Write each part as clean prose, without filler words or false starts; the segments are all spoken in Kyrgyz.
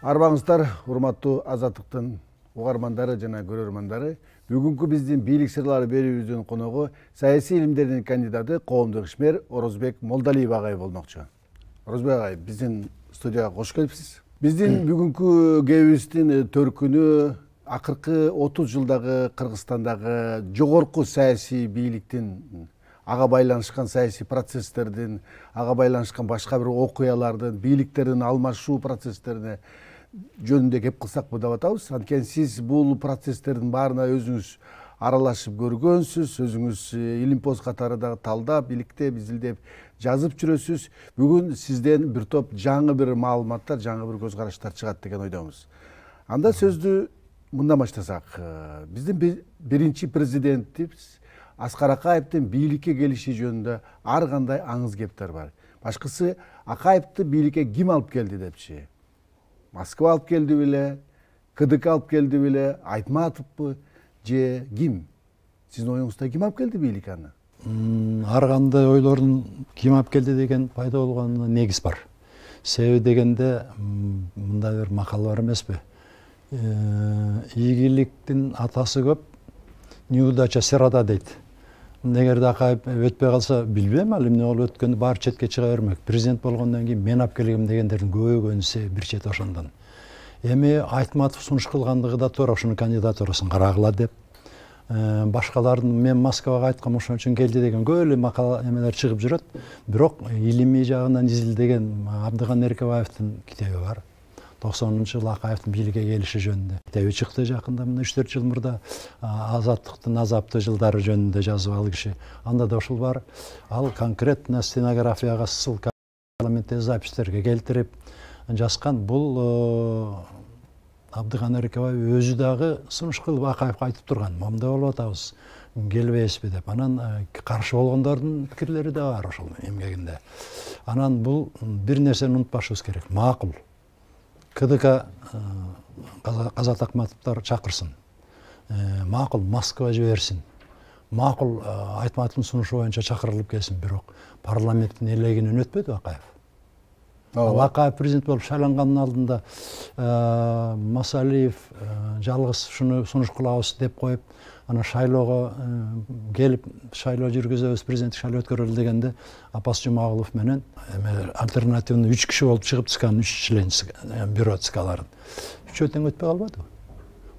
Арбаңыздар, урматтуу Азаттыктын угармандары жана көрөрмандары. Бүгүнкү биздин бийлик сырлары берүүбүздүн коногу саясий илимдердин кандидаты, коомдук ишмер Орозбек Молдалиев агай болмокчу. Орозбек агай, биздин студияга кош келипсиз. Биздин бүгүнкү кебибиздин төркүнү акыркы 30 жылдагы Кыргызстандагы жогорку саясий бийликтин, ага байланышкан саясий процесстердин, ага байланышкан башка бир окуялардын, бийликтердин алмашуу процесстерине жөнүндө кеп кылсак деп атабыз. Анткени сиз бул процесстердин баарына өзүңүз аралашып көргөнсүз, өзүңүз илимпоз катары дагы талдап, иликтеп, изилдеп жазып жүрөсүз. Бүгүн сизден бир топ жаңы бир маалыматтар, жаңы бир көз караштар чыгат деген ойдомуз. Анда сөздү мындан баштасак, биздин биринчи президентибиз Аскар Акаевдин бийликке келиши жөнүндө ар кандай аңыз кептер бар. Башкысы Акаевди бийликке ким алып келди депчи? Москва алып келди беле, КДК алып келди беле, Айтматовбу же ким? Сиздин оюңузда ким алып келди бийликке аны? Ар кандай ойлордун ким алып келди деген пайда болгонуна негиз бар. Себеби дегенде мындай бир макал бар эмеспи? Ийгиликтин атасы көп, неудача сырада дейт. Эгерде Акаев өтпөй калса, билбейм ал эмне болуп өткөндү, баары четке чыга бермек. Президент болгондон кийин мен алып келгем дегендердин көбөгөнүсү бир чет ошондон. Эми Айтматов сунуш кылгандыгы да туура, ошонун кандидатурасын карагыла деп. Башкалардын мен Москвага айткам ошон үчүн келди деген көп эле макала эмелер чыгып жүрөт. Бирок илимий жагынан изилдеген Абдыган Эркебаевдин китеби бар. 90-жылы Акаевдин бийликке келиши жөнүндө китеби чыкты жакында, мына 3-4 жыл мурда. Азаттыктын азаптуу жылдары жөнүндө жазып ал киши. Анда да ушул бар. Ал конкретно стенографияга ссылка, парламенттеги запистерге келтирип жазган. Бул Абдыган Эркебаев өзү дагы сунуш кылып Акаевге айтып турган. Момундай болуп атабыз, келбейсизби деп. Анан каршы болгондордун пикирлери да бар ошол эмгегинде. Анан бул бир нерсени унутпашыбыз керек. Макул. КДК Казат Акматовдор чакырсын. Макул Москва жиберсин. Макул Айтматовдун сунушу боюнча чакырылып келсин, бирок парламенттин элегинен өтпөдү Акаев. Акаев президент болуп шайлангандын алдында Масалиев жалгыз ушуну сунуш кылабыз деп коюп, ана шайлоого келип шайлоо жүргүзөбүз, президенттик шайлоо өткөрөлү дегенде Апас Жумагулов менен альтернативный 3 киши болуп чыгып чыккан, 3 член бюро ЦКларын. Үчөө тең өтпөй калбады.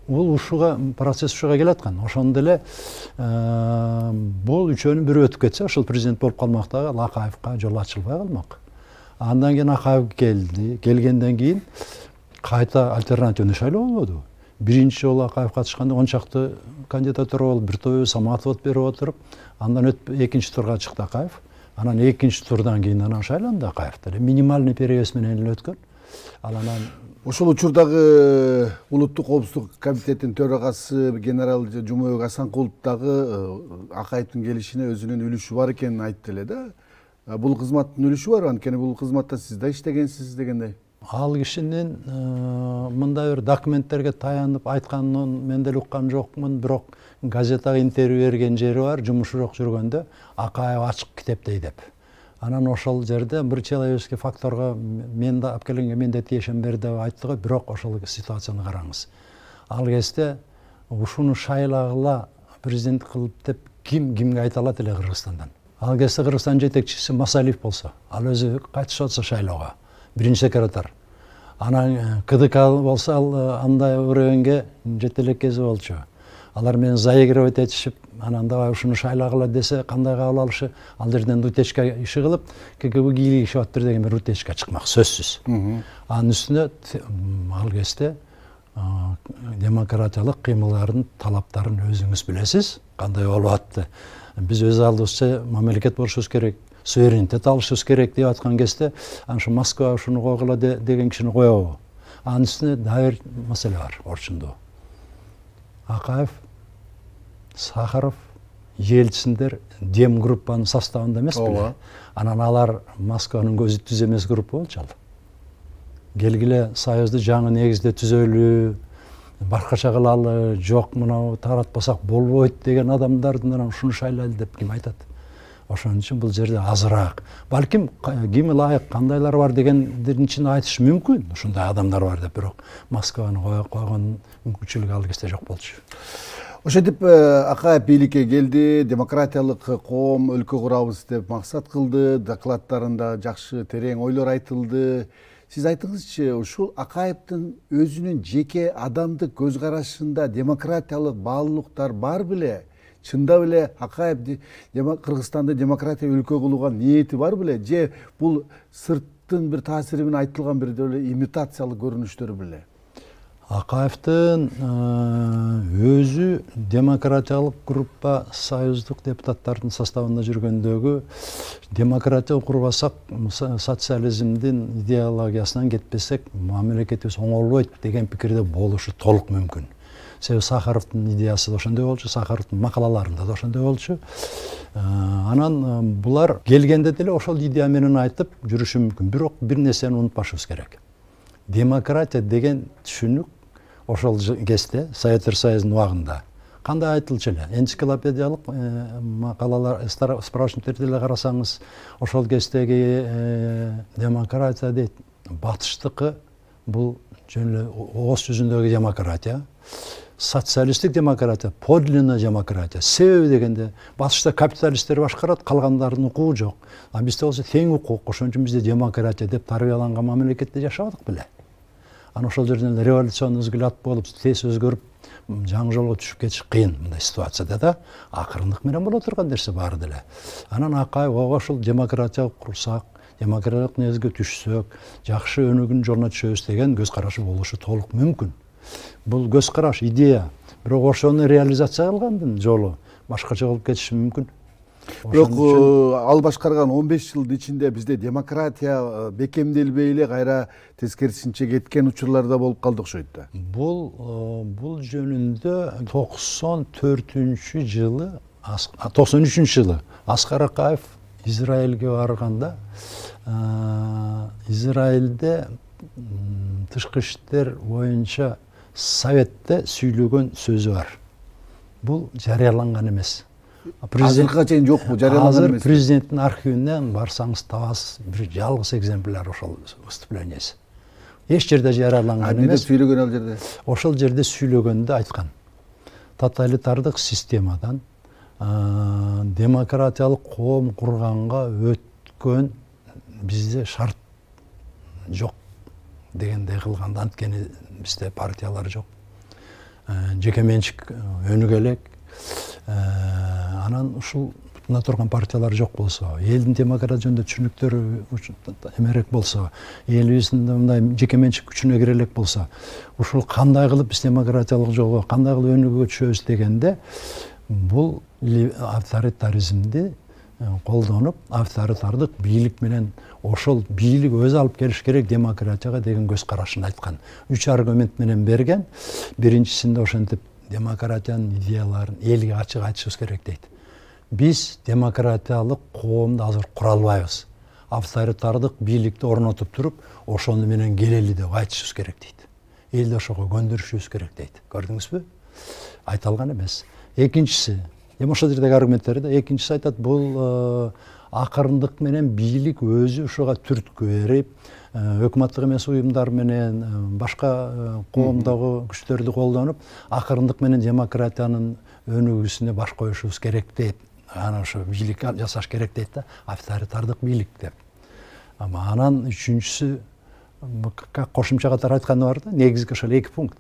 Бул ушуга процесс ушуга келаткан. Ошондо эле бул үчөөнүн бири өтүп кетсе, ошол президент болуп калмак дагы Акаевга жол ачылбай калмак. Андан кийин Акаев келди. Келгенден кийин кайта альтернативный шайлоо болбоду. Биринчи жолу Акаев катышканда 10 чакты кандидатура болуп, бир тобу Саматов берип отуруп, андан экинчи турга чыкты Акаев. Анан экинчи турдан кийин анан шайланды Акаев деле. Минимальный перевес менен эле өткөн. Ал анан ошол учурдагы улуттук коопсуздук комитетинин төрагасы генерал Жумабек Асанкулов дагы Акаевдин келишине өзүнүн үлүшү бар экенин айтты эле да. Бул кызматтын үлүшү бар, анткени бул кызматта сиз да иштегенсиз дегендей. Ал кишинин мындай бир документтерге таянып айтканын мен деле уккан жокмун, бирок газетага интервью берген жери бар, жумушу жок жүргөндө Акаев ачык китептей деп. Анан ошол жерде бир человеческий факторго мен да алып келгенге мен да тиешем бер деп айтты го, бирок ошол ситуацияны караңыз. Ал кезде ушуну шайлагыла президент кылып деп кимге айта алат эле Кыргызстандан? Ал кезде Кыргызстан жетекчиси Масалиев болсо, ал өзү кайтышып атса шайлоого, биринчи секретарь. Анан КДК болсо, ал андай өрөгөнгө жете элек кези болчу. Алар менен заигрывать этишип, анан давай ушуну шайлагыла десе, кандай кабыл алышы? Ал жерден утечка иши кылып, КГБ кийлигишип аттыр деген бир утечка чыкмак, сөзсүз. Анын үстүнө ал кезде демократиялык кыймылдардын талаптарын өзүңүз билесиз, кандай болуп атты. Биз өз алдыбызча мамлекет болушубуз керек, суверенитет алышыбыз керек деп аткан кезде, ошо Москва ушуну койгула деген кишини коебу? Анын үстүнө дагы бир маселе бар, орчундуу. Акаев, Сахаров, Ельциндер Дем группанын составында эмес беле? Анан алар Москванын көзү түз эмес группа болчу ал. Келгиле Союзду жаңы негизде түзөлүү, башкача кылалы, жок мына таратпасак болбойт деген адамдардын ушуну шайлайлы деп ким айтат? Ошон үчүн бул жерде азыраак. Балким ким ылайык, кандайлар бар дегендердин ичинде айтыш мүмкүн. Ушундай адамдар бар деп, бирок Москваны койгон мүмкүнчүлүк ал кезде жок болчу. Ошентип Акаев бийликке келди, демократиялык коом өлкө курабыз деп максат кылды, докладдарында жакшы терең ойлор айтылды. Сиз айтыңызчы, ушул Акаевдин өзүнүн жеке адамдык көз карашында демократиялык баалуулуктар бар беле? Чындап эле Акаев Кыргызстанды демократия өлкө кылууга ниети бар беле? Же бул сырттын бир таасири менен айтылган бир деле имитациялык көрүнүштөр беле? Акаевдин өзү демократиялык группа союздук депутаттардын составында жүргөндөгү демократия курбасак, социализмдин идеологиясынан кетпесек, мамлекетибиз оңолбойт деген пикирде болушу толук мүмкүн. Себеби Сахаровдун идеясы да ошондой болчу, Сахаровдун макалаларында да ошондой болчу. Анан булар келгенде деле ошол идея менен айтып жүрүшү мүмкүн. Бирок бир нерсени унутпашыбыз керек. Демократия деген түшүнүк ошол кезде Советтер Союзунун убагында кандай айтылчу эле? Энциклопедиялык макалалар, справочниктерди эле карасаңыз, ошол кездеги демократия дейт. Батыштыкы бул жөн эле ооз жүзүндөгү демократия. Социалисттик демократия, подлинная демократия. Себеби дегенде батышта капиталисттер башкарат, калгандардын укугу жок. А бизде болсо тең укук, ошон үчүн бизде демократия деп тарбияланган мамлекетте жашабадык беле. Анан ошол жерден революционный взгляд болуп, тез өзгөрүп, жаңы жолго түшүп кетиш кыйын мындай ситуацияда да. Акырындык менен боло турган нерсе баары деле. Анан Акаев ошол демократия курсак, демократиялык негизге түшсөк, жакшы өнүгүүнүн жолуна түшөбүз деген көз карашы болушу толук мүмкүн. Бул көз караш, идея. Бирок ошону реализация кылгандын жолу башкача болуп кетиши мүмкүн. Бирок ал башкарган 15 жылдын ичинде бизде демократия бекемделбей эле кайра тескерисинче кеткен учурлар да болуп калды окшойт да. Бул жөнүндө 93 жылы Аскар Акаев Израилге барганда, Израилде тышкы иштер боюнча Советте сүйлөгөн сөзү бар. Бул жарыяланган эмес. Азыркыга чейин жокпу, жарыяланган эмес. Азыр президенттин архивинден барсаңыз табасыз, бир жалгыз экземпляр ошол выступлениясы. Эч жерде жарыяланган эмес. Эмне сүйлөгөн ал жерде? Ошол жерде сүйлөгөндө айткан. Тоталитардык системадан демократиялык коом курганга өткөн бизде шарт жок дегендей кылганда, анткени бизде партиялар жок. Жеке менчик өнүгө элек. Анан ушул мына турган партиялар жок болсо, элдин демократия жөнүндө түшүнүктөрү эмерээк болсо, элибиздин мындай жеке менчик күчүнө кире элек болсо, ушул кандай кылып биз демократиялык жолго, кандай кылып өнүгүүгө түшөбүз дегенде, бул авторитаризмди колдонуп, авторитардык бийлик менен ошол бийлик өзү алып келиш керек демократияга деген көз карашын айткан. 3 аргумент менен берген. Биринчисинде ошентип демократиянын идеяларын элге ачык айтышыбыз керек дейт. Биз демократиялык коомду азыр кура албайбыз. Авторитардык бийликти орнотуп туруп, ошону менен келели деп айтышыбыз керек дейт. Элди ошого көндүрүшүбүз керек дейт. Көрдүңүзбү? Айта алган эмес. Экинчиси, ошол жердеги аргументтерде экинчиси айтат, бул акырындык менен бийлик өзү ушуга түрткү берип, өкмөттүк эмес уюмдар менен башка коомдогу күчтөрдү колдонуп, акырындык менен демократиянын өнүгүүсүнө баш коюшубуз керек дейт. Анан ошо бийлик жасаш керек дейт да, авторитардык бийлик деп. Анан үчүнчүсү кошумча катары айтканы бар да, негизги ошол 2 пункт.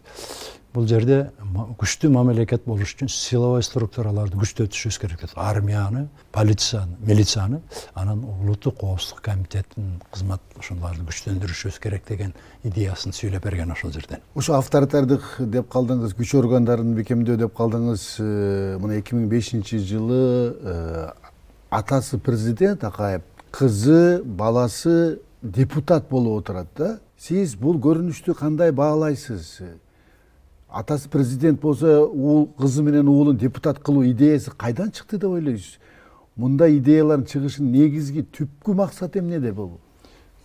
Бул жерде күчтүү мамлекет болуш үчүн силовой структураларды күчтөтүшүбүз керек дейт. Армияны, полицияны, милицияны, анан улуттук коопсуздук комитетинин кызмат ошолорду күчтөндүрүшүбүз керек деген идеясын сүйлөп берген ошол жерден. Ошо авторитардык деп калдыңыз, күч органдарын бекемдөө деп калдыңыз. Мына 2005 жылы атасы президент Акаев, кызы, баласы депутат болуп отурат да. Сиз бул көрүнүштү кандай баалайсыз? Атасы президент болсо, кызы менен уулун депутат кылуу идеясы кайдан чыкты деп ойлойсуз? Мындай идеялардын чыгышынын негизги түпкү максаты эмнеде бул?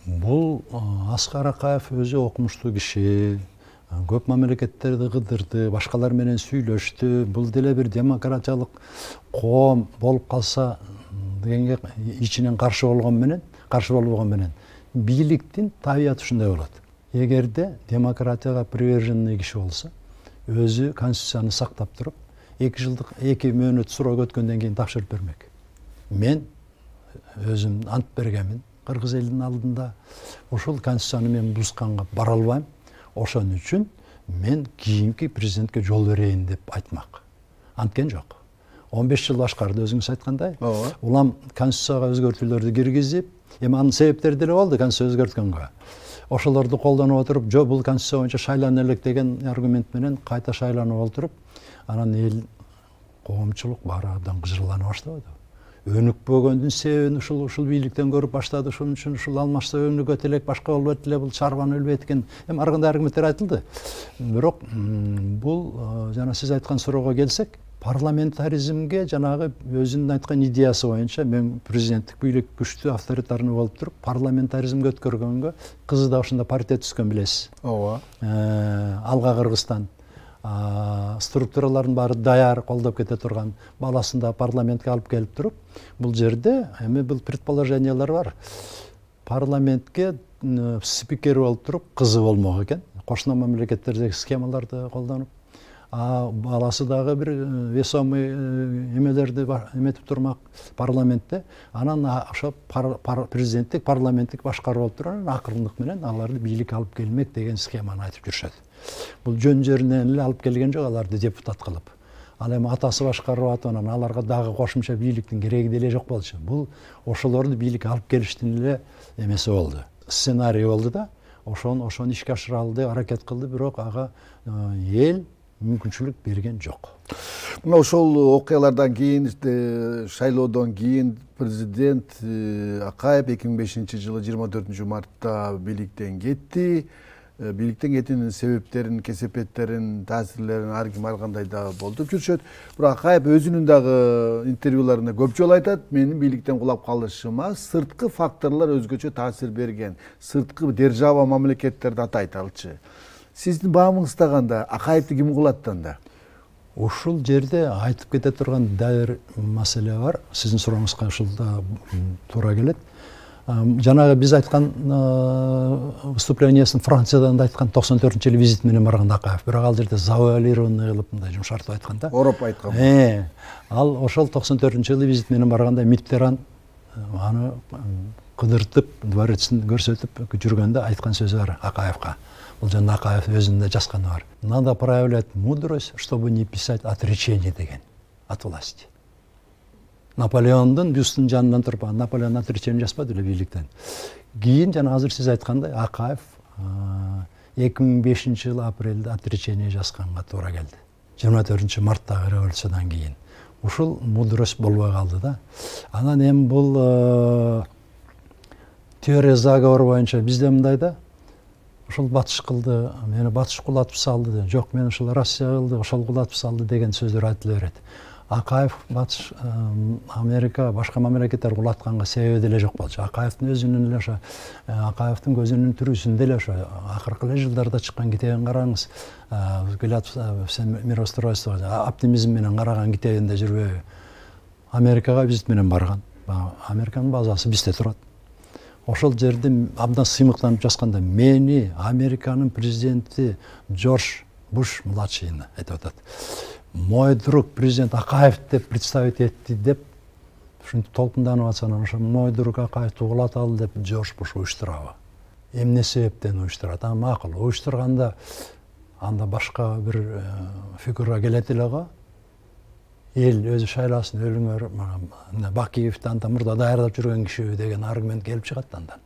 Бул Аскар Акаев өзү окумуштуу киши, көп мамлекеттерди кыдырды, башкалар менен сүйлөштү. Бул деле бир демократиялык коом болуп калса дегенге ичинен каршы болбогон менен бийликтин табияты ушундай болот. Эгерде демократияга приверженный киши болсо, өзү конституцияны сактап туруп, 2 мөөнөт суроо өткөндөн кийин тапшырып бермек. Мен өзүм ант бергенмин кыргыз элинин алдында. Ошол конституцияны мен бузганга бара албайм. Ошон үчүн мен кийинки президентке жол берейин деп айтмак. Анткен жок. 15 жыл башкарды өзүңүз айткандай. Улам конституцияга өзгөртүүлөрдү киргизип, эми анын себептери деле болду конституция өзгөрткөнгө. Ошолорду колдонуп отуруп, жок бул конституция боюнча шайлана элек деген аргумент менен кайта шайланып отуруп, анан эл коомчулук баары абдан кыжырлана баштады. Өнүкпөгөндүн себебин ушул бийликтен көрүп баштады. Ошон үчүн ушул алмашса өнүгөт элек, башка болбойт эле, бул чарбаны өлбөйт экен. Эми ар кандай аргументтер айтылды. Бирок бул жана сиз айткан суроого келсек, парламентаризмге жанагы өзүнүн айткан идеясы боюнча мен президенттик бийлик күчтүү авторитарный болуп туруп, парламентаризмге өткөргөнгө кызы да ошондо партия түзгөн билесиз. Ооба. Алга Кыргызстан структуралардын баары даяр колдоп кете турган, баласын да парламентке алып келип туруп, бул жерде эми бул предположениялар бар. Парламентке спикер болуп туруп, кызы болмок экен. Кошуна мамлекеттердеги схемаларды колдонуп, баласы дагы бир весомый эмелерди эметип турмак парламентте. Анан ошо президенттик, парламенттик башкаруу болуп туруп, акырындык менен аларды бийликке алып келмек деген схеманы айтып жүрүшөт. Бул жөн жеринен эле алып келген жок аларды депутат кылып. Ал эми атасы башкарып атып, анан аларга дагы кошумча бийликтин кереги деле жок болчу. Бул ошолорду бийликке алып келиштин эле эмеси болду. Сценарий болду да, ошону ишке ашыра алды, аракет кылды, бирок ага эл мүмкүнчүлүк берген жок. Мына ошол окуялардан кийин, шайлоодон кийин президент Акаев 2005-жылы 24 мартта бийликтен кетти. Бийликтен кетүүнүн себептерин, кесепеттерин, таасирлерин ар ким ар кандай да болдуп жүрүшөт. Бирок Акаев өзүнүн дагы интервьюларында көп жолу айтат, менин бийликтен кулап калышыма сырткы факторлор өзгөчө таасир берген. Сырткы держава мамлекеттерди атайт алчы. Сиздин баамыңызда кандай? Акаевди ким кулаттан да? Ушул жерде айтып кете турган дайыр маселе бар. Сиздин сурооңузга ушул да туура келет. Жанагы биз айткан выступлениесин Франциядан да айткан 94-жылы визит менен барган Акаев. Бирок ал жерде завуалированный кылып мындай жумшартып айткан да. Ороп айткан. Ал ошол 94-жылы визит менен барганда Миттеран аны кыдыртып, дворецин көрсөтүп жүргөндө айткан сөзү бар Акаевга. Бул жана Акаев өзүндө жазганы бар. Надо проявлять мудрость, чтобы не писать отречение деген от власти. Наполеондун бюстунун жанынан туруп, Наполеон отречение жазбады эле бийликтен. Кийин жана азыр сиз айткандай Акаев 2005-жылы апрелде отречение жазганга туура келди. 24 марттагы революциядан кийин. Ушул мудрость болбой калды да. Анан эми бул теория заговор боюнча бизде мындай да. Ошол батыш кылды, мени батыш кулатып салды. Жок, мен ошол Россия кылды, ошол кулатып салды деген сөздөр айтыла берет. Акаев батыш Америка, башка мамлекеттер кулатканга себеби деле жок болчу. Акаевдин өзүнүн эле ошо Акаевдин көзүнүн түрүсүндө эле ошо акыркы эле жылдарда чыккан китебин караңыз. Взгляд в мироустройство, оптимизм менен караган китебинде жүрбөйбү? Америкага визит менен барган. Американын базасы бизде турат. Ошол жерде абдан сыймыктанып жазганда мени Американын президенти Джордж Буш младшийни айтып атат. Мой друг президент Акаев деп представить этти деп ушинтип толкунданып атса, анан ошо мой друг Акаевди кулаталы деп Джордж Буш уюштурабы? Эмне себептен уюштурат? Макул, уюштурганда анда башка бир фигура келет эле го. Эл өзү шайласын, өлүңөр, Бакиевди анда мурда даярдап жүргөн киши деген аргумент келип чыгат андан.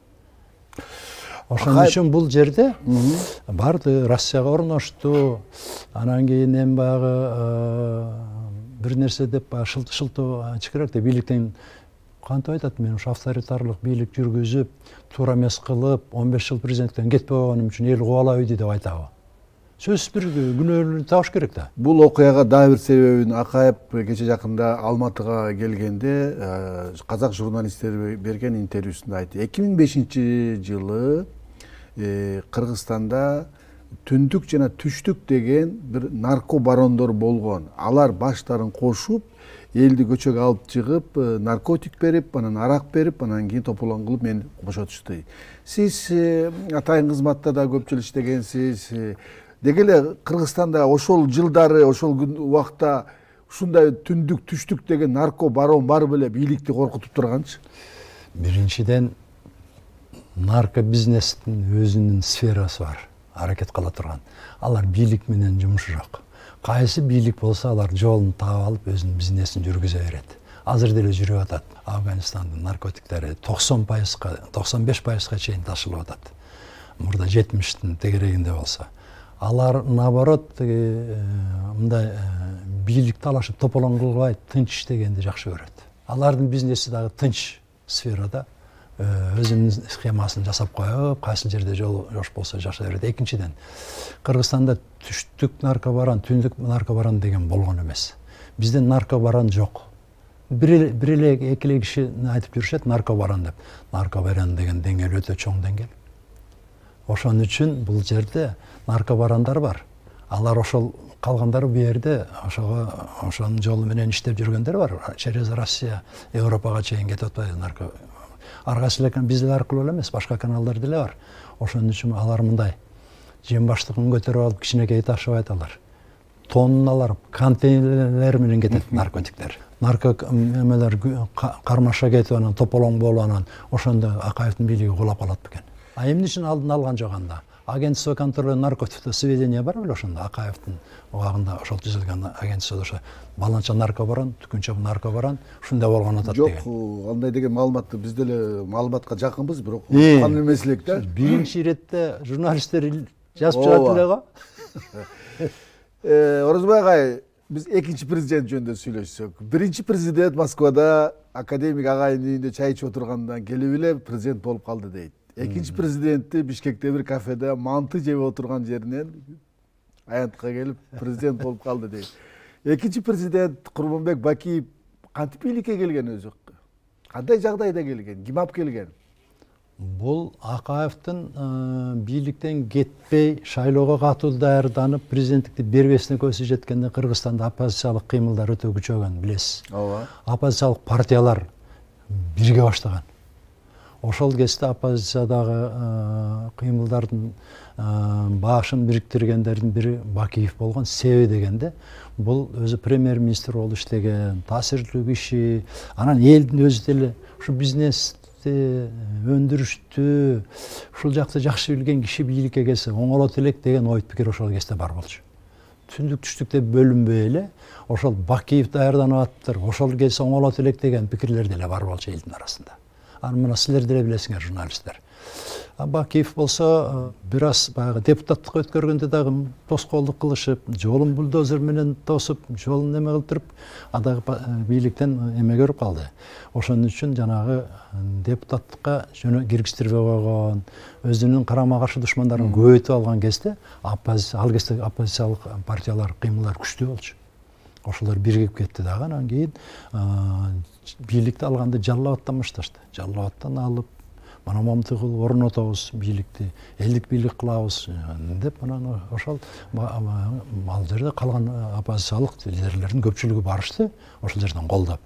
Ошон үчүн бул жерде барды, Россияга орношту, анан кийин эми баягы бир нерсе деп шылтоо ачык деп бийликтен кантип айтат, мен ушу авторитарлык бийлик жүргүзүп, туура эмес кылып, 15 жыл президенттен кетпей койгонум үчүн эл кубалабы деп айтабы? Сөзсүз бир күнөөлөрүн табыш керек да. Бул окуяга дагы бир себебин Акаев кече жакында Алматыга келгенде казак журналисттери берген интервьюсунда айтты. 2005-жылы Кыргызстанда түндүк жана түштүк деген бир нарко барондор болгон. Алар баштарын кошуп элди көчөгө алып чыгып, наркотик берип, анан арак берип, анан кийин тополоң кылып мени бошотушту. Сиз атайын кызматта да көп жыл иштегенсиз. Деги эле Кыргызстанда ошол жылдары, ошол убакта ушундай түндүк, түштүк деген нарко барон бар беле бийликти коркутуп турганчы? Биринчиден нарко бизнестин өзүнүн сферасы бар, аракет кыла турган. Алар бийлик менен жумушу жок. Кайсы бийлик болсо алар жолун таап алып өзүнүн бизнесин жүргүзө берет. Азыр деле жүрүп атат. Афганистандын наркотиктери 90%, 95%га чейин ташылып атат. Мурда 70-тин тегерегинде болсо. Алар наоборот мындай бийлик талашып тополоң кылбай тынч иштегенди жакшы көрөт. Алардын бизнеси дагы тынч сферада өзүнүн схемасын жасап коюп, кайсы жерде жол жош болсо жашай берет. Экинчиден, Кыргызстанда түштүк наркобарон, түндүк наркобарон деген болгон эмес. Бизде наркобарон жок. Бир эле эки эле киши айтып жүрүшөт наркобарон деп. Наркобарон деген деңгээл өтө чоң деңгээл. Ошон үчүн бул жерде наркобарондар бар. Алар ошол калгандары бу жерде ошонун жолу менен иштеп жүргөндөр бар. Через Россия, Европага чейин кетип атпайбы нарко. Аргасы эле биздер аркылуу эле эмес, башка каналдар деле бар. Ошон үчүн алар мындай жем баштыгын көтөрүп алып кичинекей ташыбайт алар. Тонналар, контейнерлер менен кетет наркотиктер. Нарко эмелер кармаша кетип анан тополоң болуп анан ошондо Акаевдин бийлиги кулап калат бекен. А эмне үчүн алдын алган жок анда? Агентство контроля наркотиков сведения бар беле ошондо Акаевдин убагында ошол түзүлгөн агентство ошо баланча наркобарон, түкүнчө наркобарон ушундай болгон атат деген. Жок, андай деген маалыматты биз деле маалыматка жакынбыз, бирок уккан эмес элек да. Биринчи иретте журналисттер жазып жатат эле го. Орозбай агай, биз экинчи президент жөнүндө сүйлөшсөк. Биринчи президент Москвада академик агайдын үйүндө чай ичип отургандан келип эле президент болуп калды дейт. Экинчи президентти Бишкекте бир кафеде манты жеп отурган жеринен аянтка келип президент болуп калды дейт. Экинчи президент Курманбек Бакиев кантип бийликке келген өзү? Кандай жагдайда келген? Ким алып келген? Бул Акаевдин бийликтен кетпей шайлоого катуу даярданып президенттикти бербесине көзү жеткенде Кыргызстанда оппозициялык кыймылдар өтө күчөгөн, билесиз. Ооба. Оппозициялык партиялар бирге баштаган. Ошол кезде оппозициядагы кыймылдардын башын бириктиргендердин бири Бакиев болгон. Себеби дегенде бул өзү премьер-министр болуп иштеген, таасирлүү киши, анан элдин өзү деле ушу бизнести өндүрүштү ушул жакты жакшы билген киши бийликке келсе оңолот элек деген ой пикир ошол кезде бар болчу. Түндүк түштүк деп бөлүнбөй эле ошол Бакиев даярданып атыптыр, ошол келсе оңолот элек деген пикирлер деле бар болчу элдин арасында. Анан мына силер деле билесиңер, журналисттер. Бакиев болсо бир аз баягы депутаттыкка өткөргөндө дагы тоскоолдук кылышып, жолун бульдозер менен тосуп, жолун неме кылтырып, адагы бийликтен эме көрүп калды. Ошон үчүн жанагы депутаттыкка киргизтирбей койгон, өзүнүн карама каршы душмандарын көбөйтүп алган кезде ал кезде оппозициялык партиялар кыймылдар күчтүү болчу. Ошолор биригип кетти дагы, анан кийин бийликти алганды Жалал-Абадтан башташты. Жалал-Абадтан алып, мана момунтип орнотобуз бийликти, элдик бийлик кылабыз деп анан ошол ал жерде калган оппозициялык лидерлердин көпчүлүгү барышты, ошол жерден колдоп.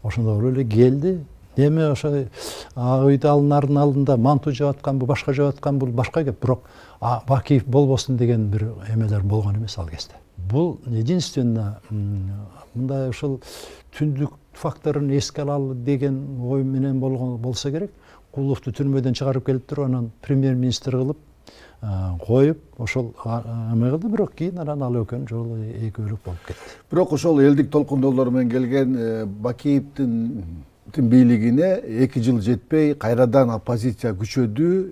Ошондо эле келди. Эми ошо ыйдалнардын алдында манту жеп атканбы, башка жеп атканбы, бул башка кеп, бирок Бакиев болбосун деген бир эмелер болгон эмес ал кезде. Бул единственно мындай ушул түндүк факторун эске алалы деген ой менен болгон болсо керек. Куловду түрмөдөн чыгарып келип туруп, анан премьер-министр кылып коюп, ошол эме кылды, бирок кийин анан ал экөөнүн жолу экөөлүк болуп кетти. Бирок ошол элдик толкундоолор менен келген Бакиевдин бийлигине 2 жыл жетпей кайрадан оппозиция күчөдү,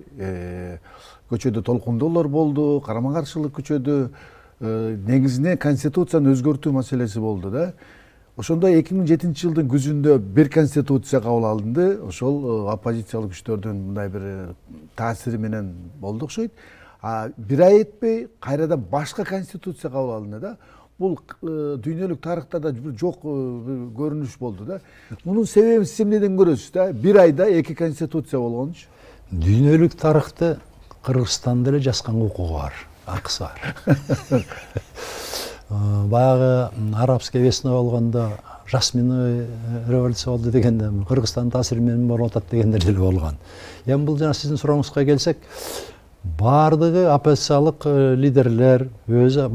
көчөдө толкундоолор болду, карама каршылык күчөдү. Негизинен конституцияны өзгөртүү маселеси болду да. Ошондо 2007 жылдын күзүндө бир конституция кабыл алынды. Ошол оппозициялык күчтөрдүн мындай бир таасири менен болду окшойт. Бир ай этпей кайрадан башка конституция кабыл алынды да. Бул дүйнөлүк тарыхта да жок көрүнүш болду да. Мунун себебин сиз эмнеден көрөсүз да? Бир айда 2 конституция болгончу. Дүйнөлүк тарыхты Кыргызстанда эле жазганга укугу бар, акысы бар. Баягы арабская весна болгондо жасминовый революция болду дегенде Кыргызстандын таасири менен болуп атат дегендер деле болгон. Эми бул жана сиздин сурооңузга келсек, баардыгы оппозициялык лидерлер өзү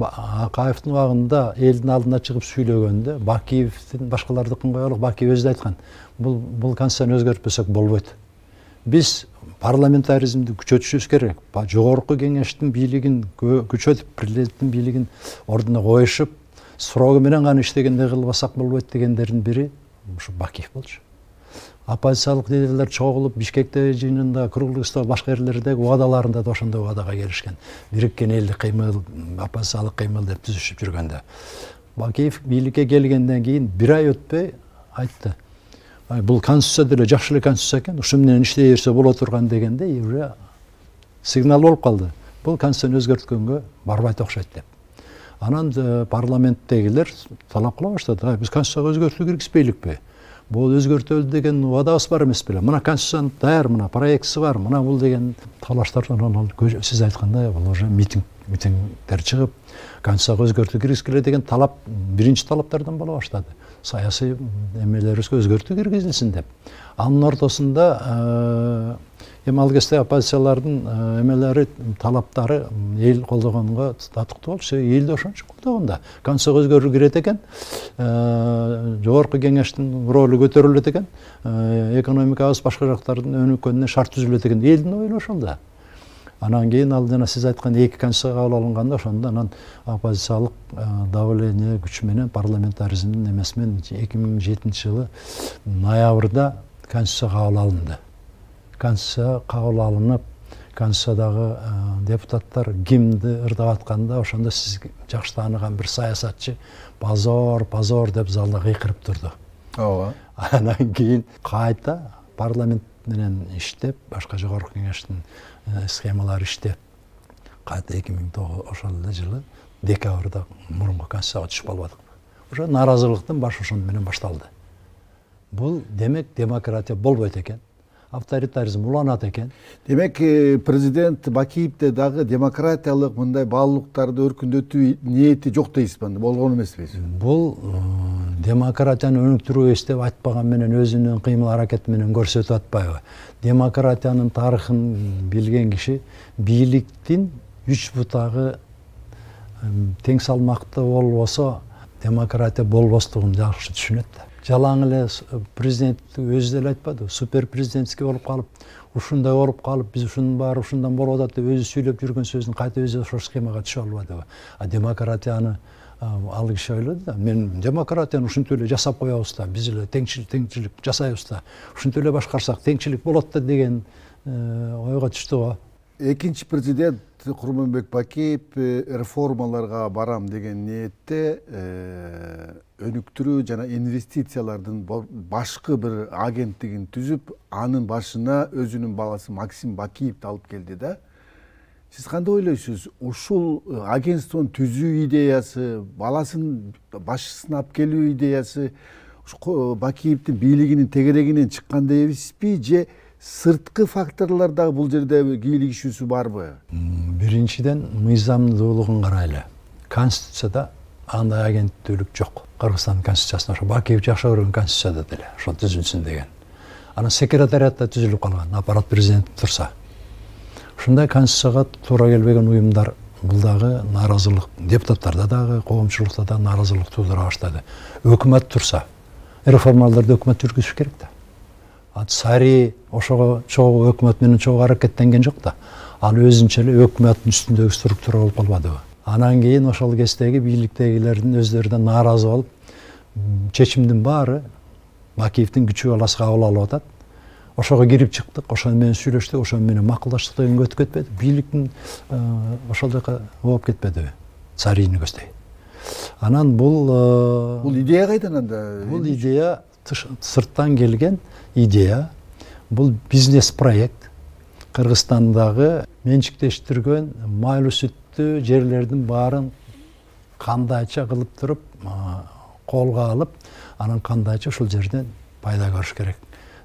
Акаевдин убагында элдин алдына чыгып сүйлөгөндө, Бакиевдин башкалардыкын коелук, Бакиев өзү да айткан, бул конституцияны өзгөртпөсөк болбойт. Биз парламентаризмди күчөтүшүбүз керек. Жогорку кеңештин бийлигин күчөтүп, президенттин бийлигин ордуна коюшуп, срогу менен гана иштегенде кылбасак болбойт дегендердин бири ушу Бакиев болчу. Оппозициялык лидерлер чогулуп Бишкекте жыйынында, круглый стол, башка жерлердеги убадаларында да ошондой убадага келишкен. Бириккен элдик кыймыл, оппозициялык кыймыл деп түзүшүп жүргөндө. Бакиев бийликке келгенден кийин бир ай өтпөй айтты. Бул конституция деле жакшы эле конституция экен, ушу менен иштей берсе боло турган дегенде уже сигнал болуп калды. Бул конституцияны өзгөрткөнгө барбайт окшойт деп. Анан парламенттегилер талап кыла баштады. Биз конституцияга өзгөртүү киргизбейликпи? Бул өзгөртөлдү деген убадабыз бар эмес беле? Мына конституциянын даяр, мына проектиси бар, мына бул деген талаштардан анан сиз айткандай бул уже митингдер чыгып, конституцияга өзгөртүү киргизгиле деген талап биринчи талаптардан боло баштады. Саясий эмелерибизге өзгөртүү киргизилсин деп. Анын ортосунда эми ал кезде оппозициялардын эмелери, талаптары эл колдогонго татыктуу болчу. Эл да ошончо колдогон да. Конституцияга өзгөрүү кирет экен, жогорку кеңештин ролу көтөрүлөт экен, экономикабыз башка жактардын өнүккөнүнө шарт түзүлөт экен. Элдин ою ошол да. Анан кийин ал жана сиз айткан эки конституция кабыл алынганда ошондо анан оппозициялык давление күч менен парламентаризмдин эмеси менен 2007-жылы ноябрда конституция кабыл алынды. Конституция кабыл алынып, конституциядагы депутаттар гимнди ырдап атканда ошондо сиз жакшы тааныган бир саясатчы позор деп залда кыйкырып турду. Ооба. Анан кийин кайта парламент менен иштеп, башка жогорку кеңештин схемалары иштеп, кайта 2009 ошол эле жылы декабрда мурунку конституцияга түшүп калбадык. Ошо нааразылыктын башы ошондо менен башталды. Бул демек демократия болбойт экен, авторитаризм уланат экен. Демек президент Бакиевде дагы демократиялык мындай баалуулуктарды өркүндөтүү ниети жок дейсизби? Болгон эмеспи? Бул демократияны өнүктүрөбүз деп айтпаган менен өзүнүн кыймыл аракети менен көрсөтүп атпайбы? Демократиянын тарыхын билген киши бийликтин үч бутагы тең салмакта болбосо демократия болбостугун жакшы түшүнөт да. Жалаң эле президент өзү деле айтпады, супер президентский болуп калып, ушундай болуп калып, биз ушунун баары ушундан болуп атат деп өзү сүйлөп жүргөн сөздүн кайта өзү ошол схемага түшө албадыбы? Демократияны ал киши ойлоду да, мен демократияны ушинтип эле жасап коебуз да, биз эле теңчилик жасайбыз да, ушинтип эле башкарсак теңчилик болот да деген ойго түштү го. Экинчи президент Курманбек Бакиев реформаларга барам деген ниетте өнүктүрүү жана инвестициялардын башкы бир агенттигин түзүп, анын башына өзүнүн баласы Максим Бакиевди алып келди да. Сиз кандай ойлойсуз? Ушул агентствонун түзүү идеясы, баласын башчысына алып келүү идеясы Бакиевдин бийлигинин тегерегинен чыккан дейбизби же сырткы факторлор дагы бул жерде кийлигишүүсү барбы? Биринчиден мыйзамдуулугун карайлы. Конституцияда андай агенттүүлүк жок. Кыргызстандын конституциясында ошо Бакиев жакшы көргөн конституцияда деле ошол түзүлсүн деген. Анан секретариатта түзүлүп калган, аппарат президент турса. Ушундай конституцияга туура келбеген уюмдар бул дагы нааразылык, депутаттарда дагы, коомчулукта да нааразылык туудура баштады. Өкмөт турса, реформаларды өкмөт жүргүзүш керек да. Сари ошого чогуу өкмөт менен чогуу аракеттенген жок да. Ал өзүнчө эле өкмөттүн үстүндөгү структура болуп калбадыбы? Анан кийин ошол кездеги бийликтегилердин өздөрү да нааразы болуп, чечимдин баары Бакиевдин күчү баласы кабыл алып атат. Ошого кирип чыктык, ошону менен сүйлөштүк, ошону менен макулдаштык деген өтүп кетпеди. Бийликтин ошол жака болуп кетпедиби? Царийни көздөй. Анан бул идея кайдан анда? Бул идея сырттан келген идея. Бул бизнес проект. Кыргызстандагы менчиктештирген майлуу сүттүү жерлердин баарын кандайча кылып туруп, колго алып, анан кандайча ушул жерден пайда көрүш керек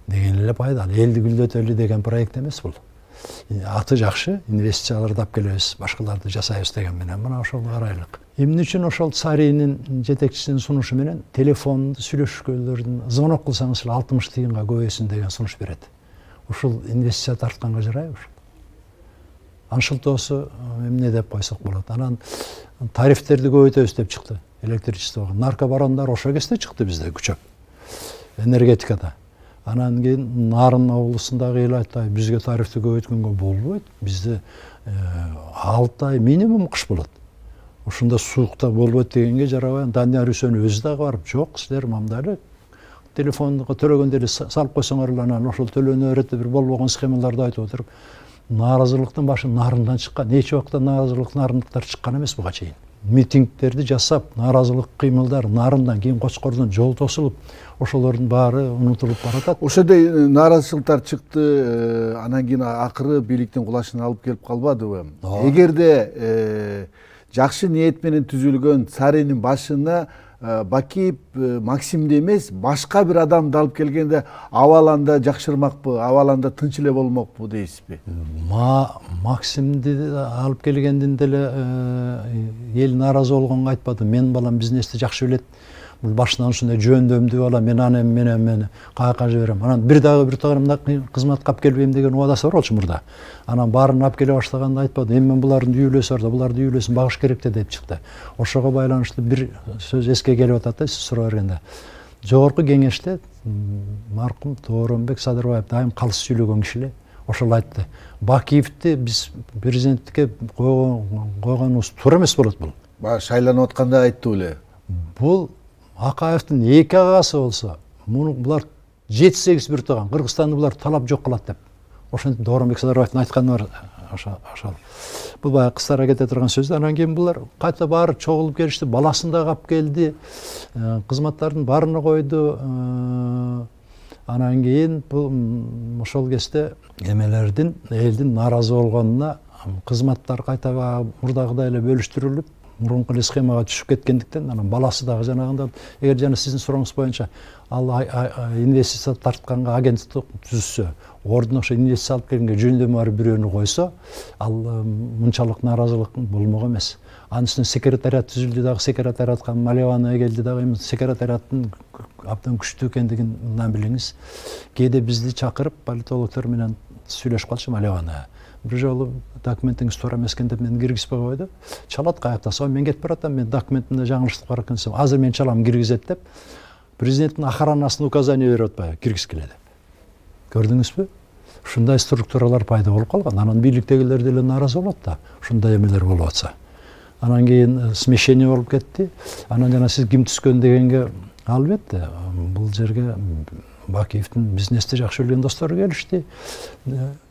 деген эле пайда. Элди гүлдөтөлү деген проект эмес бул. Аты жакшы, инвестицияларды алып келебиз, башкаларды жасайбыз деген менен мына ошол карайлык. Эмне үчүн ошол Царинин жетекчисинин сунушу менен телефонду сүйлөшкөндөрдүн звонок кылсаңыз эле 60 тыйынга көбөйсүн деген сунуш берет. Ушул инвестиция тартканга жарайбы ушул? Аншылтоосу эмне деп койсок болот. Анан тарифтерди көбөйтөбүз деп чыкты электричествого. Наркобарондар ошол кезде чыкты бизде күчөп. Энергетикада. Анан кийин Нарын облусундагы эл айтты, бизге тарифти көбөйткөнгө болбойт. Бизде 6 ай минимум кыш болот. Ушунда суукта болбойт дегенге жарабай. Данияр Үсөнов өзү дагы барып, жок, силер мамдайлы телефонго төлөгөндө эле салып койсоңор эле анан ошол төлөнө берет бир болбогон схемаларды айтып отуруп, нааразылыктын башы Нарындан чыккан. Эч убакта нарындыктар чыккан эмес буга чейин. Митингдерди жасап, нааразылык кыймылдар Нарындан, кийин Кочкордон жол тосулуп, ошолордун баары унутулуп баратат. Ошондой нааразычылыктар чыкты, анан кийин акыры бийликтин кулашына алып келип калбадыбы? Эгерде жакшы ниет менен түзүлгөн Царинин башына Бакиев Максимди эмес, башка бир адамды алып келгенде абаланда жакшырмакпы, абаланда тынч эле болмокпу дейсизби? Максимди алып келгендин деле эл нааразы болгонго айтпады. Менин балам бизнести жакшы билет. Бул башынан ушундай жөндөмдүү бала, мен аны мени каяка жиберем. Анан бир тагырымда кызматка алып келбейм деген убадасы бар болчу мурда. Анан баарын алып келе баштаганда айтпады. Эми мен булардын дүйүлөсү бар да, булардын дүйүлөсүн багыш керек деп чыкты. Ошого байланыштуу бир сөз эске келип атат да, сиз сурап бергенде. Жогорку кеңеште маркум Тооронбек Садырбаев дайым калыс сүйлөгөн киши эле. Ошол айтты. Бакиевди биз президенттикке койгонубуз туура эмес болот бул. Шайланып атканда айтты эле. Бул Акаевдин 2 агасы болсо, булар 7-8 бир тууган, Кыргызстанды булар талап жок кылат деп. Ошентип Тооронбек Садырбаевдин айтканы бар ошол. Бул баягы кыстара кете турган сөз. Анан кийин булар кайта баары чогулуп келишти, баласын да алып келди, кызматтардын баарына койду. Анан кийин бул ошол кезде элдин нааразы болгонуна кызматтар кайта мурдагыдай эле бөлүштүрүлүп, мурунку эле схемага түшүп кеткендиктен, анан баласы дагы жанагында, эгер жана сиздин сурооңуз боюнча ал инвестиция тартканга агенттик түзүшсө, ордуна ошо инвестиция алып келгенге жөндөмү бар бирөөнү койсо, ал мынчалык нааразылык болмок эмес. Анын үстүнө секретариат түзүлдү дагы, секретариатка Малевана келди дагы, эми секретариаттын абдан күчтүү экендигин мындан билиңиз. Кээде бизди чакырып политологдор менен сүйлөшүп калчу Малевана. Бир жолу документиңиз туура эмес экен деп мени киргизбей койду. Чалат каяктаса, мен кетип баратам, мен документимде жаңылыштык бар экен десем, азыр мен чалам киргизет деп, президенттин охранасына указание берип атпайбы, киргизгиле деп. Көрдүңүзбү? Ушундай структуралар пайда болуп калган. Анан бийликтегилер деле нааразы болот да, ушундай эмелер болуп атса. Анан кийин смещение болуп кетти. Анан жана сиз ким түскөн дегенге, албетте, бул жерге Бакиевдин бизнести жакшы билген достору келишти.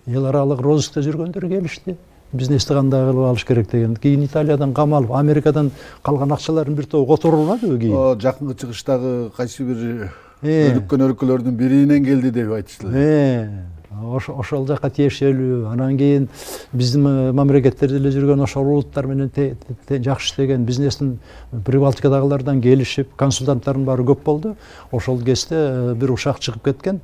Эл аралык розыскта жүргөндөр келишти. Бизнести кандай кылып алыш керек деген. Кийин Италиядан камалып, Америкадан калган акчалардын бир тобу которулбадыбы кийин? Жакынкы чыгыштагы кайсы бир өнүккөн өлкөлөрдүн биринен келди деп айтыштылар. Ошол жака тиешелүү. Анан кийин биздин мамлекеттерде эле жүргөн ошол улуттар менен жакшы иштеген бизнестин Прибалтикадагылардан келишип, консультанттардын баары көп болду. Ошол кезде бир ушак чыгып кеткен.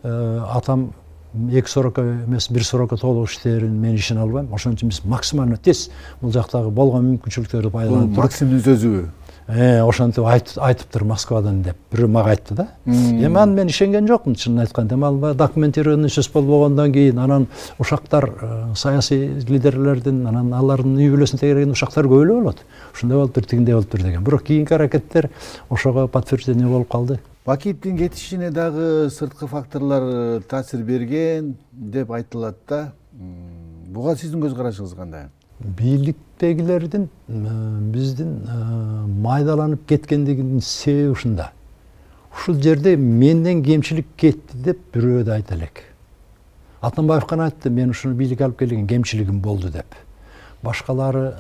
Атам 2 срока эмес, 1 срока толук иштерин мен ишине албайм. Ошон үчүн биз максимально тез бул жактагы болгон мүмкүнчүлүктөрдү пайдаланып туруп. Максимдин сөзүбү. Ошентип айтыптыр Москвадан деп бирөө мага айтты да. Эми аны мен ишенген жокмун, чынын айтканда. Ал документированный сөз болгондон кийин анан ушактар, саясий лидерлердин, анан алардын үй бүлөсүн тегереген ушактар көп эле болот. Ушундай болуптур, тигиндей болуптур деген. Бирок кийинки аракеттер ошого подтверждение болуп калды. Бакиевдин кетишине дагы сырткы факторлор таасир берген деп айтылат да. Буга сиздин көз карашыңыз кандай? Бийликтегилердин биздин майдаланып кеткендигинин себеби ушунда. Ушул жерде менден кемчилик кетти деп бирөө да айта элек. Атамбаев гана айтты, мен ушуну бийликке алып келген кемчилигим болду деп. Башкалары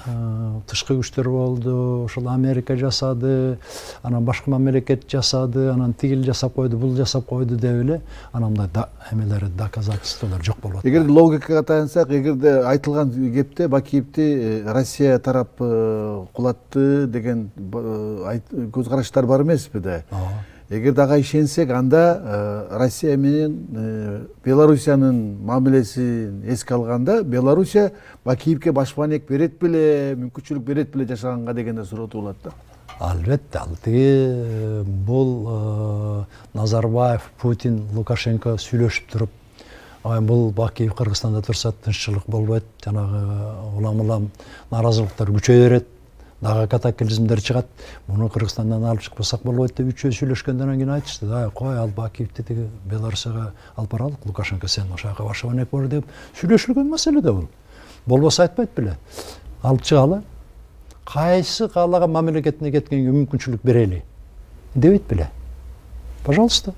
тышкы күчтөр болду, ошол Америка жасады, анан башка мамлекет жасады, анан тигил жасап койду, бул жасап койду деп эле, анан мындай эмелер, доказательстволор жок болуп атат. Эгерде логикага таянсак, эгерде айтылган кепте Бакиевди Россия тарап кулатты деген көз караштар бар эмеспи да? эгерде ага ишенсек, анда Россия менен Белоруссиянын мамилесин эске алганда, Белоруссия Бакиевке башпанек берет беле, мүмкүнчүлүк берет беле жашаганга деген да суроо туулат да. Албетте, ал тиги бул Назарбаев, Путин, Лукашенко сүйлөшүп туруп, бул Бакиев Кыргызстанда турса тынччылык болбойт, жанагы улам нааразылыктар күчөй берет, дагы катаклизмдер чыгат, муну Кыргызстандан алып чыкпасак болбойт деп үчөө сүйлөшкөндөн кийин айтышты, кой ал Бакиевди тиги Белоруссияга алып баралык, Лукашенко сен ошол жака башпанек бор деп сүйлөшүлгөн маселе да бул. Болбосо айтпайт беле. Алып чыгалы. Кайсы каалаган мамлекетине кеткенге мүмкүнчүлүк берели дебейт беле. Пожалуйста.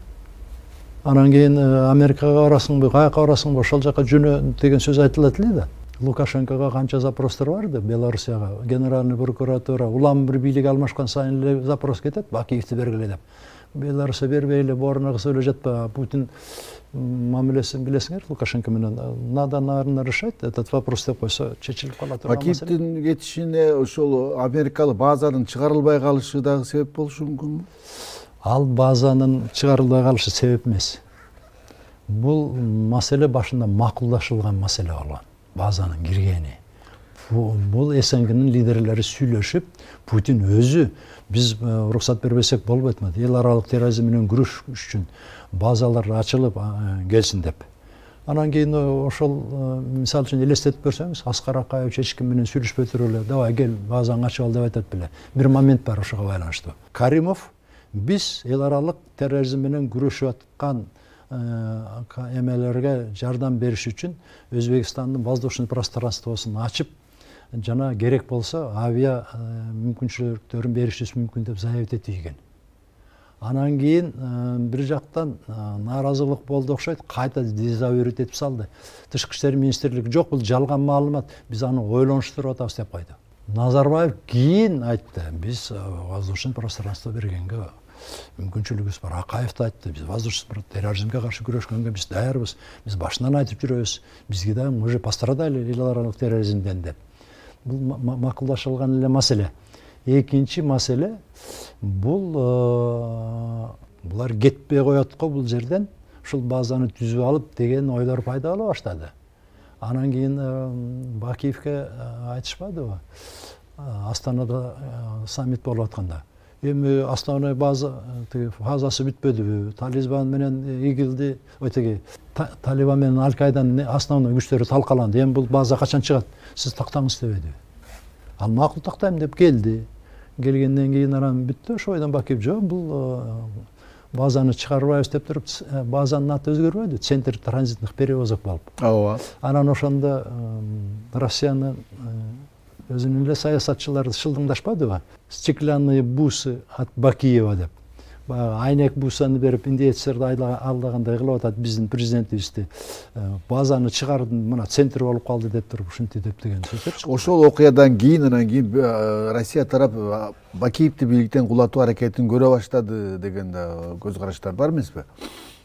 Анан кийин Америкага барасыңбы, каяка барасыңбы, ошол жака жөнө деген сөз айтылат эле да. Лукашенкого канча запростор барды Белоруссияга, генеральный прокуратура, улам бир бийлик алмашкан сайын эле запрос кетет, Бакиевди бергиле деп. Белоруссия бербей эле борунга кысып эле жатпа, Путин мамилесин билесиңер, Лукашенко менен надо, наверное, решать этот вопрос деп койсо чечилип кала турган маселе. Бакиевдин кетишине ошол америкалык базанын чыгарылбай калышы дагы себеп болушу мүмкүнбү? Ал базанын чыгарылбай калышы себеп эмес. Бул маселе башында макулдашылган маселе болгон. Базанын киргени. Бул СНГнын лидерлери сүйлөшүп, Путин өзү биз уруксат бербесек болбойт му? Эл аралык терроризм менен күрөш үчүн базалар ачылып келсин деп. Анан кийин ошол мисалы үчүн элестетип көрсөңүз, Аскар Акаевич эч ким менен сүйлөшпөй туруп эле, давай кел базаңды ачып ал деп айтат беле. Бир момент бар ошого байланыштуу. Каримов биз эл аралык терроризм менен күрөшүп аткан эмелерге жардам бериш үчүн Өзбекстандын воздушный пространствосун ачып, жана керек болсо авиа мүмкүнчүлүктөрүн беришибиз мүмкүн деп заявить эткен. Анан кийин бир жактан нааразылык болду окшойт, кайта дезавуировать этип салды. Тышкы иштер министрлиги жок, бул жалган маалымат, биз аны ойлонуштуруп атабыз деп койду. Назарбаев кийин айтты, биз воздушный пространство бергенге мүмкүнчүлүгүбүз бар. Акаев да айтты, биз воздушный терроризмге каршы күрөшкөнгө биз даярбыз. Биз башынан айтып жүрөбүз. Бизге да мы же пострадали эл аралык терроризмден деп. Бул макулдашылган эле маселе. Экинчи маселе булар кетпей коет го бул жерден, ушул базаны түзүп алып деген ойлор пайда боло баштады. Анан кийин Бакиевке айтышпадыбы? Астанада саммит болуп атканда. Эми основной база фазасы бүтпөдүбү? Талибан менен ИГИЛди, Талибан менен Аль-Каиданын основной күчтөрү талкаланды. Эми бул база качан чыгат? Сиз тактаңыз дебеди. Ал макул тактайм деп келди. Келгенден кийин анан бүттү. Ошойдон Бакиев жок, бул базаны чыгарбайбыз деп туруп, базанын аты өзгөрбөдү. Центр транзитных перевозок болуп. Ооба. Анан ошондо Россиянын өзүнүн эле саясатчылары шылдыңдашпадыбы? Стеклянные бусы от Бакиева деп. Айнек бусаны берип индеецтерди алдагандай кылып атат биздин президентибизди. Базаны чыгардым, мына центр болуп калды деп туруп ушинтип деп деген сөздөр чыкты. Ошол окуядан кийин анан кийин Россия тарап Бакиевди бийликтен кулатуу аракетин көрө баштады деген да көз караштар бар эмеспи?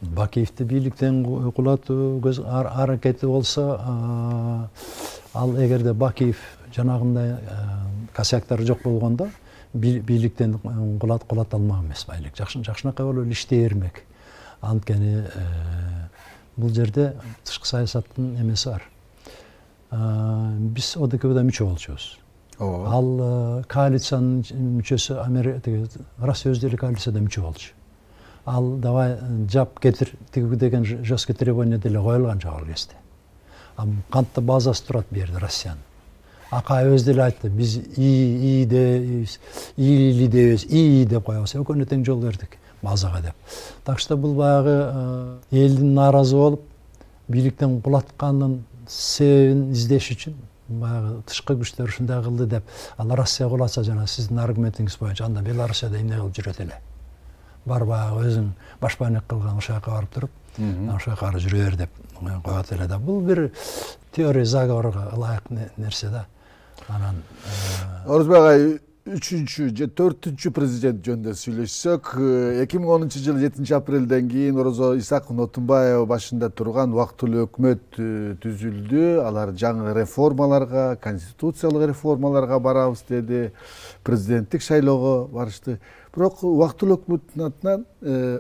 Бакиевди бийликтен кулатуу көз аракети болсо, ал эгерде Бакиев жанагындай косяктары жок болгондо бийликтен кулата алмак эмес байлык. Жакшынакай болуп иштей бермек. Анткени бул жерде тышкы саясаттын эмеси бар. Биз ОДКБда мүчө болчубуз. Ал коалициянын мүчөсү Россия өзү деле коалицияда мүчө болчу. Ал давай жап кетир деген жесткий требование деле коюлган жок ал кезде. Кантта базасы турат бу жерде Россиянын. Акаев өзү деле айтты, биз ИИ деп коебуз, экөөнө тең жол бердик базага деп. Так что бул баягы элдин нааразы болуп, бийликтен кулатканын себебин издеш үчүн баягы тышкы күчтөр ушундай кылды деп, ал Россия кулатса жана сиздин аргументиңиз боюнча анда Белоруссияда эмне кылып жүрөт эле. Бар баягы өзүң башпанек кылган ошол жака барып туруп, ошол жака кара жүрө бер деп коет эле да. Бул бир теория заговорго ылайык нерсе да. Анан Орозбек агай, 3-чү же 4-чү президент жөнүндө сүйлөшсөк, 2010-жылы 7 апрелден кийин Орозо Исаков Отунбаева башында турган убактылуу өкмөт түзүлдү. Алар жаңы реформаларга, конституциялык реформаларга барабыз деди, президенттик шайлоого барышты. Бирок убактылуу өкмөттүн атынан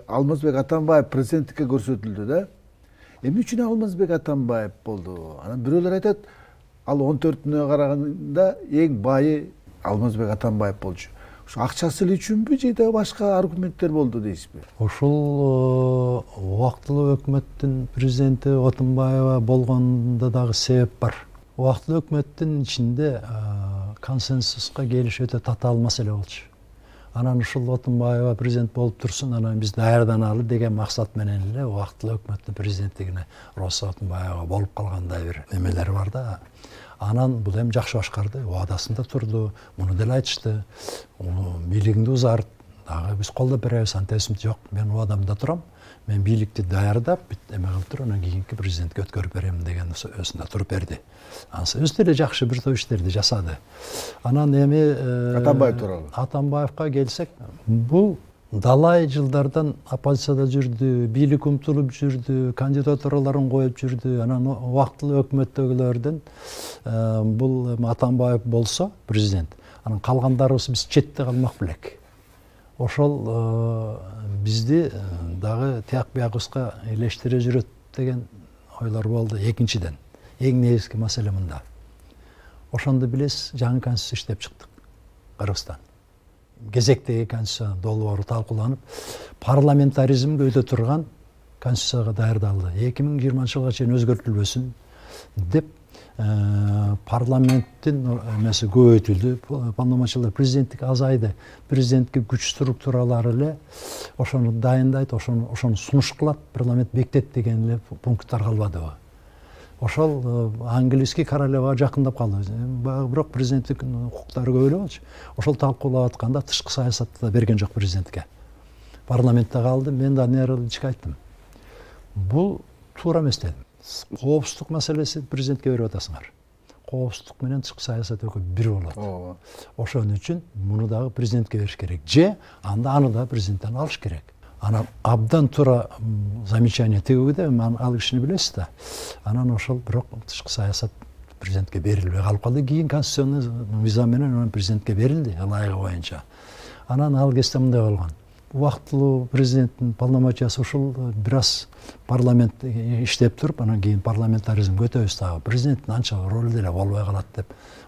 Алмазбек Атамбаев президенттикке көрсөтүлдү да. Эмне үчүн Алмазбек Атамбаев болду? Анан бирөөлөр айтат, ал 14-нө караганда эң байы Алмазбек Атамбаев болчу. Ошо акчасы эле үчүнбү же да башка аргументтер болду дейсизби? Ошол убактылуу өкмөттүн президенти Отунбаева болгондо дагы себеп бар. Убактылуу өкмөттүн ичинде консенсуска келиш өтө татаал маселе болчу. Анан ушул Отунбаева президент болуп турсун, анан биз даярданалы деген максат менен эле убактылуу өкмөттүн президенттигине Роза Отунбаева болуп калгандай бир эмелер бар да. Анан бул эми жакшы башкарды, убадасында турду, муну деле айтышты. Бийлигиңди узарт, дагы биз колдоп беребиз, антебиз жок, мен убадамда турам. Мен бийликти даярдап, эме кылып туруп, анан кийинки президентке өткөрүп берем деген өзүндө туруп берди. Анысы өзү деле жакшы бир топ иштерди жасады. Анан эми Атамбаев тууралуу. Атамбаевка келсек, бул далай жылдардан оппозицияда жүрдү, бийлик умтулуп жүрдү, кандидатураларын коюп жүрдү. Анан убактылуу өкмөттөгүлөрдөн бул Атамбаев болсо президент, анан калгандарыбыз биз четте калмак белек. Ошол бизди дагы тияк биягыбызга элештире жүрөт деген ойлор болду. Экинчиден, эң негизги маселе мында. Ошондо билесиз, жаңы конституция иштеп чыктык. Кыргызстан. Кезектеги конституция долбоору талкууланып, парламентаризмге өтө турган конституцияга даярдалды. 2020-жылга чейин өзгөртүлбөсүн деп парламенттин эмеси көбөйтүлдү, полномочиялар президенттик азайды, президентке күч структуралары эле ошону дайындайт, ошону сунуш кылат, парламент бекитет деген эле пункттар калбадыбы. Ошол английский королевага жакындап калды. Бирок президенттик укуктары көп эле болчу. Ошол талкуулап атканда тышкы саясатты да берген жок президентке. Парламентте калды. Мен да нейрологичке айттым. Бул туура эмес дедим. Коопсуздук маселеси президентке берип атасыңар. Коопсуздук менен тышкы саясат экөө бир болот. Ошон үчүн муну дагы президентке бериш керек. Же анда аны да президенттен алыш керек. Анан абдан туура замечание тегүүгүдө, ал кишини билесиз да. Анан ошол бирок тышкы саясат президентке берилбей калып калды. Кийин конституционный мыйзам менен президентке берилди, ылайыгы боюнча. Анан ал кезде мындай болгон. Убактылуу президенттин полномочиясы ушул бир аз парламент иштеп туруп, анан кийин парламентаризмге өтөбүз дагы. Президенттин анча ролу деле болбой калат деп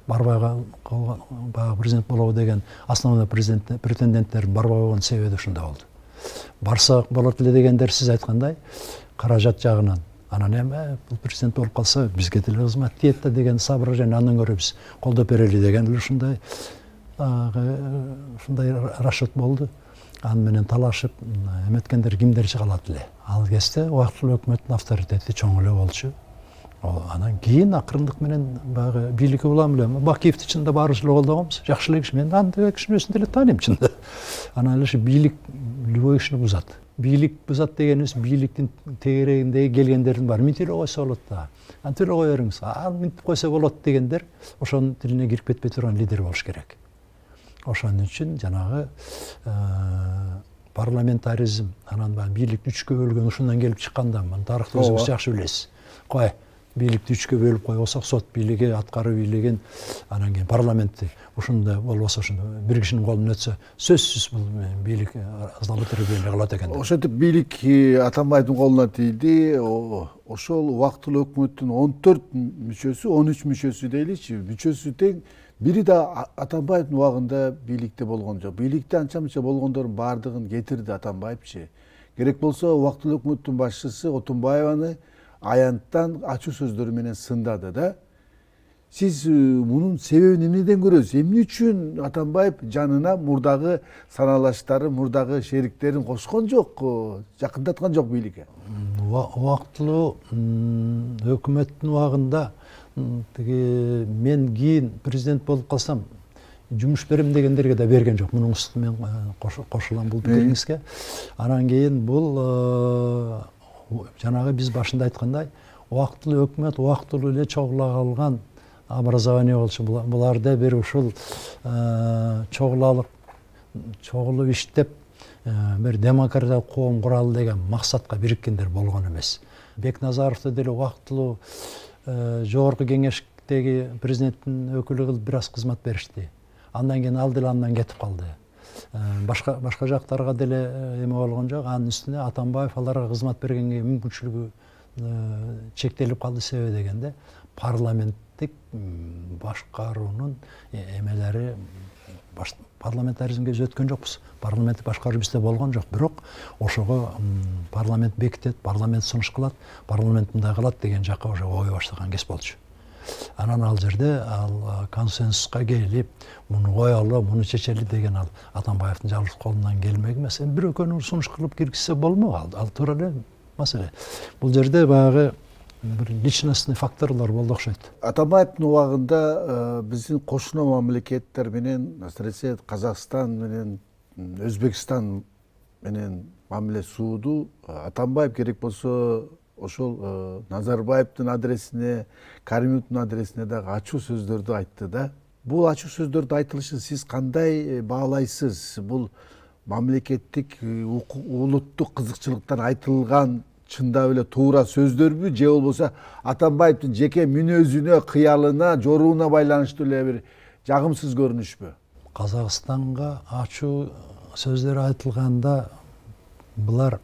барбай калган, баягы президент болобу деген основной претенденттердин барбай койгон себеби ушунда болду. Барса болот эле дегендер сиз айткандай каражат жагынан. Анан эми бул президент болуп калса бизге деле кызмат тиет да деген соображение, андан көрө биз колдоп берели деген ушундай расчет болду. Аны менен талашып эметкендер кимдер калат эле. Ал кезде убактылуу өкмөттүн авторитети чоң эле болчу. Анан кийин акырындык менен баягы бийликке улам эле Бакиевди чында баарыбыз эле колдогонбуз. Жакшы эле киши, мен аны кишинин өзүн деле тааныйм чында. Анан эле бийлик любой кишини бузат. Бийлик бузат дегенибиз бийликтин тегерегиндеги келгендердин баары минтип эле койсо болот да. Антип эле кое бериңиз. Ал минтип койсо болот дегендер ошонун тилине кирип кетпей турган лидер болуш керек. Ошон үчүн жанагы парламентаризм, анан бийлик 3кө бөлгөн ушундан келип чыкканда, тарыхты өзүңүз жакшы билесиз. Кой, бийликти 3кө бөлүп койсок, сот бийлиги, аткаруу бийлигин, анан кийин парламентти ушундай болбосо, ушунда бир кишинин колунан өтсө, сөзсүз бул бийлик злоупотребление кылат экен. Ошентип бийлик Атамбаевдин колуна тийди. Ошол убактылуу өкмөттүн 14 мүчөсү, 13 мүчөсү дейличи, мүчөсү тең бири да Атамбаевдин убагында бийликте болгон жок. Бийликте анча-мынча болгондордун баардыгын кетирди Атамбаевчы. Керек болсо убактылуу өкмөттүн башчысы Отунбаеваны аянттан ачуу сөздөрү менен сындады да. Сиз мунун себебин эмнеден көрөсүз? Эмне үчүн Атамбаев жанына мурдагы саналаштары, мурдагы шериктерин кошкон жок, жакындаткан жок бийликке? Убактылуу өкмөттүн убагында мен кийин президент болуп калсам жумуш берем дегендерге да берген жок. Мунун үстүнө мен кошулам бул пикириңизге. Анан кийин бул жанагы биз башында айткандай убактылуу өкмөт убактылуу эле чогула калган образование болчу, буларда бир ушул чогулалык чогулуп иштеп бир демократиялык коом куралы деген максатка бириккендер болгон эмес. Бекназаровду деле убактылуу жогорку кеңештеги президенттин өкүлү кылып бир аз кызмат беришти. Андан кийин ал деле андан кетип калды. Башка жактарга деле эме болгон жок. Анын үстүнө Атамбаев аларга кызмат бергенге мүмкүнчүлүгү чектелип калды. Себеби дегенде парламенттик башкаруунун эмелери парламентаризмге биз өткөн жокпуз. Парламенттик башкаруу бизде болгон жок. Бирок ошого парламент бекитет, парламент сунуш кылат, парламент мындай кылат деген жакка уже ой баштаган кез болчу. Анан ал жерде ал консенсуска келип, муну коелу, муну чечели деген ал Атамбаевдин жалгыз колунан келмек эмес. Бир экөөнү сунуш кылып киргизсе болмок, ал туура эле маселе. Бул жерде баягы бир личностный факторлор болду окшойт. Атамбаевдин убагында биздин кошуна мамлекеттер менен, асыресе Казакстан менен Өзбекстан менен мамиле сууду. Атамбаев керек болсо ошол Назарбаевдин адресине, Каримовдун адресине дагы ачуу сөздөрдү айтты да. Бул ачуу сөздөрдү айтылышын сиз кандай баалайсыз? Бул мамлекеттик улуттук кызыкчылыктан айтылган чындап эле туура сөздөрбү, же болбосо Атамбаевдин жеке мүнөзүнө, кыялына, жорууна байланыштуу эле бир жагымсыз көрүнүшпү? Казакстанга ачуу сөздөр айтылганда булар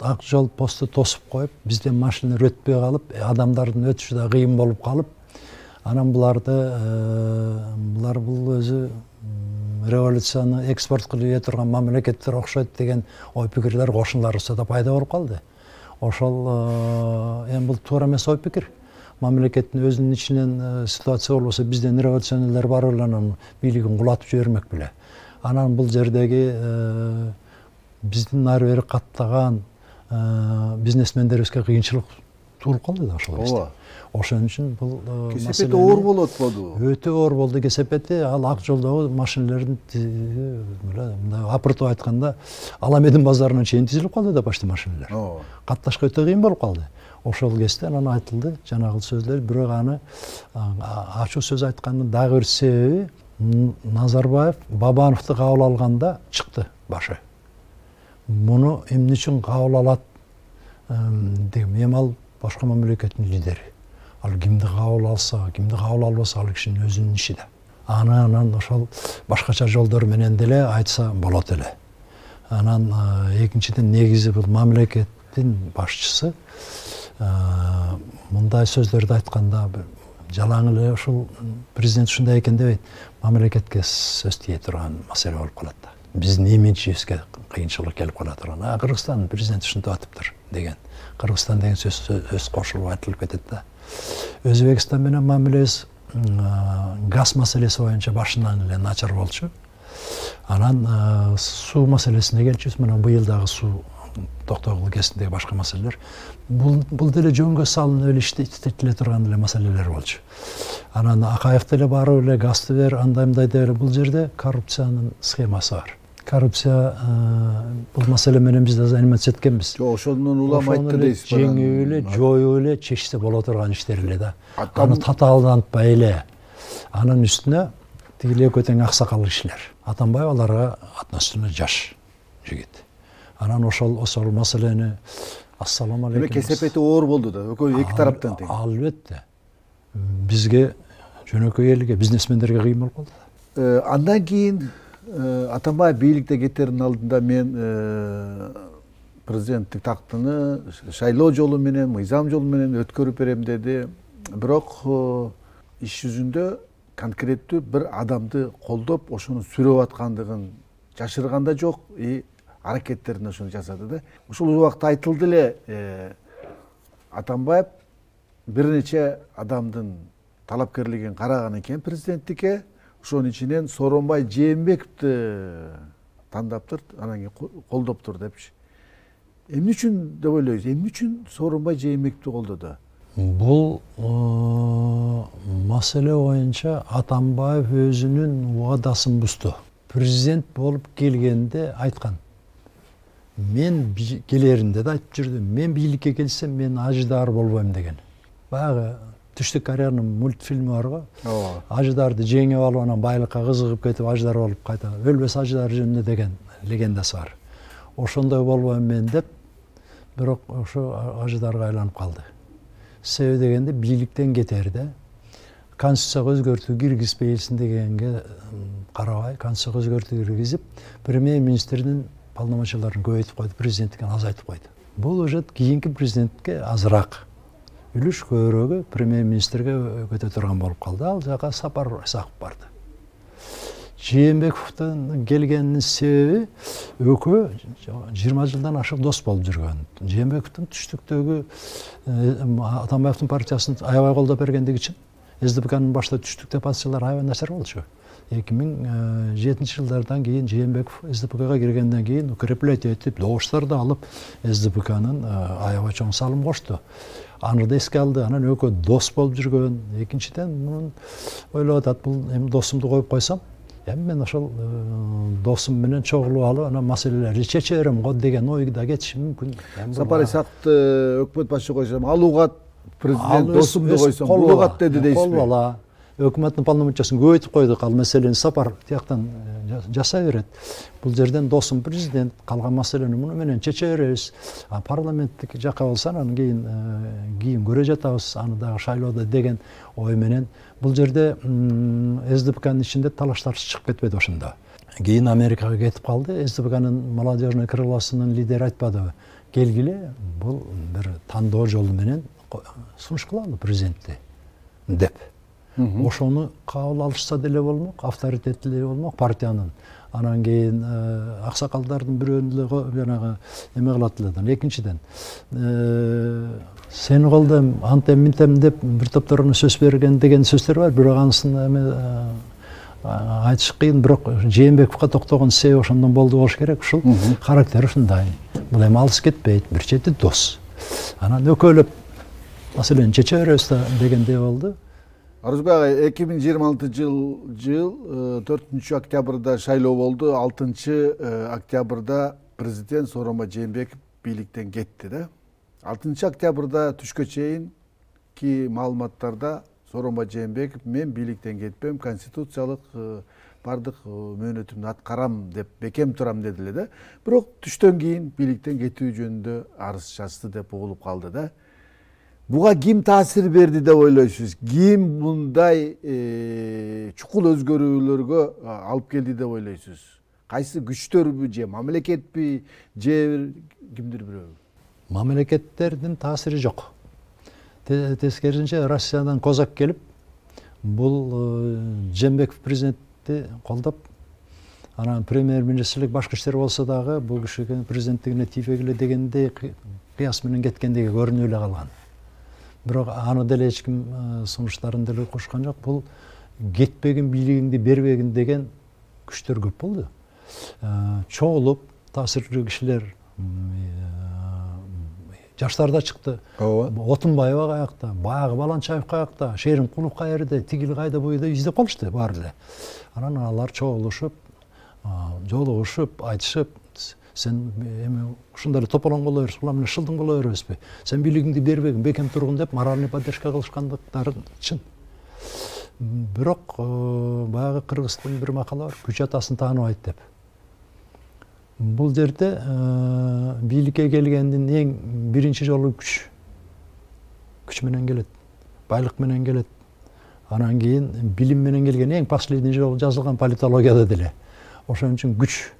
ак жол посту тосуп коюп, бизден машиналар өтпөй калып, адамдардын өтүшү да кыйын болуп калып, анан булар бул өзү революцияны экспорт кылып ийе турган мамлекеттер окшойт деген ой пикирлер кошуналарыбызда да пайда болуп калды. Ошол эми бул туура эмес ой пикир. Мамлекеттин өзүнүн ичинен ситуация болбосо бизден революционерлер барып эле анан бийлигин кулатып жибермек беле. Анан бул жердеги биздин ары бери каттаган бизнесмендерибизге кыйынчылык туулуп калды да ошол кезде. Ошон үчүн бул кесепети оор болуп атпадыбы? Өтө оор болду кесепети. Ал ак жолдогу машиналардын мындай апыртып айтканда Аламедин базарына чейин тизилип калды да почти машиналар. Катташка өтө кыйын болуп калды. Ошол кезде анан айтылды жанагы сөздөр, бирок аны ачуу сөз айткандын дагы бир себеби Назарбаев Бабановду кабыл алганда чыкты башы. Муну эмне үчүн кабыл алат деген, эми ал башка мамлекеттин лидери. Ал кимди кабыл алса, кимди кабыл албаса, ал кишинин өзүнүн иши да. Анан ошол башкача жолдор менен деле айтса болот эле. Анан экинчиден негизи бул мамлекеттин башчысы мындай сөздөрдү айтканда жалаң эле ушул президент ушундай экен дебейт, мамлекетке сөз тие турган маселе болуп калат да. Биздин имиджибизге кыйынчылык келип кала турган. Кыргызстандын президенти ушинтип атыптыр деген. Кыргызстан деген сөз кошулуп айтылып кетет да. Өзбекстан менен мамилебиз газ маселеси боюнча башынан эле начар болчу. Анан суу маселесине келчүбүз. Мына быйыл дагы суу токтогулу кезиндеги башка маселелер. Бул деле жөнгө салынып эле иштетиле турган эле маселелер болчу. Анан Акаев деле барып эле газды бер, андай мындай деп эле, бул жерде коррупциянын схемасы бар. Коррупция бул маселе менен биз да заниматься эткенбиз. Жок, ошондон улам айтты дейсиз. Жеңип эле, жоюп эле, чечсе боло турган иштер эле да. Аны татаалдантпай эле. Анын үстүнө тигил экөө тең аксакал кишилер. Атамбаев аларга относительно жаш жигит. Анан ошол маселени ассалам алейкум. Демек кесепети оор болду да, экөө эки тараптан тең. Албетте. Бизге жөнөкөй элге, бизнесмендерге кыйын болуп калды. Андан кийин Атамбаев бийликте кетердин алдында мен президенттик тактыны шайлоо жолу менен, мыйзам жолу менен өткөрүп берем деди. Бирок иш жүзүндө конкреттүү бир адамды колдоп, ошону сүрөп аткандыгын жашырганда жок, аракеттерин ошону жасады да. Ушул убакта айтылды эле Атамбаев бир нече адамдын талапкерлигин караган экен президенттикке. Ошонун ичинен Сооронбай Жээнбековду тандаптыр, анан кийин колдоптур депчи. Эмне үчүн деп ойлойсуз? Эмне үчүн Сооронбай Жээнбековду колдоду? Бул маселе боюнча Атамбаев өзүнүн убадасын бузду. Президент болуп келгенде айткан. Мен келеринде да айтып жүрдүм. Мен бийликке келсем, мен ажыдаар болбойм деген. Баягы Түштүк Кореянын мультфильми бар го. ооба, Аждарды жеңип алып анан байлыкка кызыгып кетип аждар болуп кайта өлбөс аждар жөнүндө деген легендасы бар. Ошондой болбойм мен деп, бирок ошо аждарга айланып калды. Себеби дегенде бийликтен кетерде конституцияга өзгөртүү киргизбейсиң дегенге карабай, конституцияга өзгөртүү киргизип, премьер-министрдин полномочияларын көбөйтүп койду, президенттикин азайтып койду. Бул уже кийинки президентке азыраак үлүш көбүрөгү премьер-министрге өтө турган болуп калды. Ал жака Сапар Исаков барды. Жээнбековдун келгенинин себеби экөө 20 жылдан ашык дос болуп жүргөн. Жээнбековдун түштүктөгү Атамбаевдин партиясын аябай колдоп бергендиги үчүн СДПКнын башта түштүктө партиялар аябай начар болчу. 2007 жылдардан кийин Жээнбеков СДПКга киргенден кийин укреплять этип, добуштарды алып СДПКнын аябай чоң салым кошту. Аны да эске алды. Анан экөө дос болуп жүргөн. Экинчиден мунун ойлоп атат, бул эми досумду коюп койсом, эми мен ошол досум менен чогулуп алып анан маселелерди чече берем го деген ойда кетиши мүмкүн. Сапар Исаковду өкмөт башчы койсом, ал угат президент досумду койсом, бул угат деди дейсизби? Колбала. Өкмөттүн полномочиясын көбөйтүп койдук. Ал маселени Сапар тияктан жасай берет. Бул жерден досум президент, калган маселени муну менен чече беребиз. Парламенттик жакка болсо анан кийин көрө жатабыз, аны дагы шайлоодо деген ой менен. Бул жерде СДПКнын ичинде талаштар чыгып кетпеди ошондо. Кийин Америкага кетип калды. СДПКнын молодежный крылосунун лидери айтпадыбы? Келгиле, бул бир тандоо жолу менен сунуш кылалы президентти деп. Ошону кабыл алышса деле болмок, авторитеттүү деле болмок партиянын. Анан кийин аксакалдардын бирөөнү деле жанагы эме кылат эле. Экинчиден, сени колдойм, антем минтем деп бир топторуна сөз берген деген сөздөр бар, бирок анысын эме айтыш кыйын, бирок Жээнбековго токтогон себеби ошондон болду болуш керек. Ушул характери ушундай. Бул эми алыс кетпейт, бир чети дос. Анан өкөлөп маселени чече беребиз да дегендей болду. Орозбек агай, 2026 жыл 4 октябрда шайлоо болду, 6 октябрда президент Сооронбай Жээнбеков бийликтен кетти да. 6 октябрда түшкө чейин ки маалыматтарда Сооронбай Жээнбеков мен бийликтен кетпем, конституциялык бардык мөөнөтүмдү аткарам деп бекем турам деди эле да. Бирок түштөн кийин бийликтен кетүү жөнүндө арыз жазды деп угулуп калды да. Буга ким таасир берди деп ойлойсуз? Ким мындай чукул өзгөрүүлөргө алып келди деп ойлойсуз? Кайсы күчтөрбү же мамлекетпи же кимдир бирөө? Мамлекеттердин таасири жок. Тескерисинче Россиядан Козак келип, бул Жээнбеков президентти колдоп, анан премьер-министрлик башкы иштер болсо дагы бул кишиге президенттигине тийбегиле дегендей кыяс менен кеткендиги көрүнүп эле калган. Бирок аны деле эч ким сунуштарын деле кошкон жок. Бул кетпегин, бийлигиңди бербегин деген күчтөр көп болду. Чогулуп таасирлүү кишилер жаштар да чыкты. Отунбаева каякта, баягы Баланчаев каякта, Шерим Кулов каерде, тигил кайда буйда издеп калышты баары эле. Анан алар чогулушуп, жолугушуп, айтышып, сен эми ушундай эле тополоң боло бериз, була менен шылдың боло беребизби? Сен бийлигиңди бербегин, бекем тургун деп моральный поддержка кылышкандыктары чын. Бирок баягы кыргыздын бир макалы бар, күч атасын тааныбайт деп. Бул жерде бийликке келгендин эң биринчи жолу күч менен келет, байлык менен келет. Анан кийин билим менен келген эң последний жолу жазылган политологияда деле. Ошон үчүн күч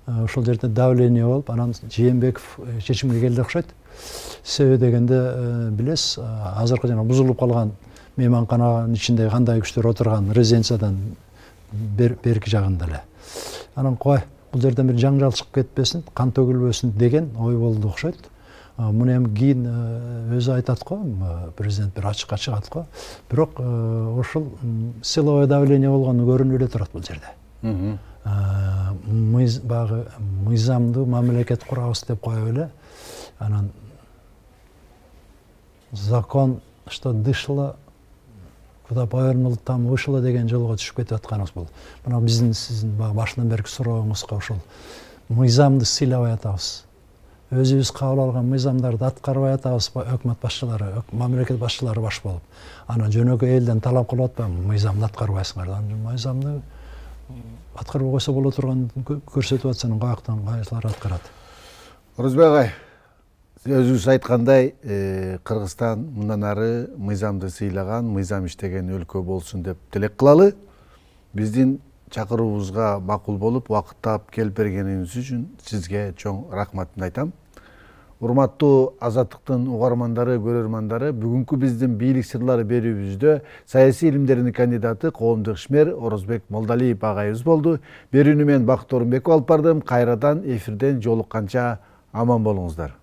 ошол жерде давление болуп, анан Жээнбеков чечимге келди окшойт. Себеби дегенде билесиз, азыркы жана бузулуп калган мейманкананын ичинде кандай күчтөр отурган резиденциядан берки жагында эле. Анан кой, бул жерден бир жаңжал чыгып кетпесин, кан төгүлбөсүн деген ой болду окшойт. Муну эми кийин өзү айтат го, президент бир ачыкка чыгат го. Бирок ошол силовой давление болгону көрүнүп эле турат бул жерде. Багы мыйзамдуу мамлекет курабыз деп коюп эле, анан закон что дышло, куда повернул, там вышло деген жолго түшүп кетип атканыбыз бул. Мына биздин сиздин башынан берки сурооңузга ошол мыйзамды сыйлабай атабыз. өзүбүз кабыл алган мыйзамдарды аткарбай атабызбы, өкмөт башчылары, мамлекет башчылары баш болуп. Анан жөнөкөй элден талап кылып атпаймынбы, мыйзамды аткарбайсыңар. Мыйзамды аткарбай койсо боло турган көрсөтүп атсаң каяктан кайсылар аткарат. Орозбек агай, өзүңүз айткандай, Кыргызстан мындан ары мыйзамды сыйлаган, мыйзам иштеген өлкө болсун деп тилек кылалы. Биздин чакыруубузга макул болуп, убакыттап келип бергениңиз үчүн сизге чоң рахматымды айтам. Урматтуу Азаттыктын угармандары, көрөрмандары, бүгүнкү биздин бийлик сырлары берүүбүздө саясий илимдердин кандидаты, коомдук ишмер Орозбек Молдалиев агайыбыз болду. Берүүнү мен Бакыт Орунбеков алып бардым. Кайрадан эфирден жолукканча аман болуңуздар.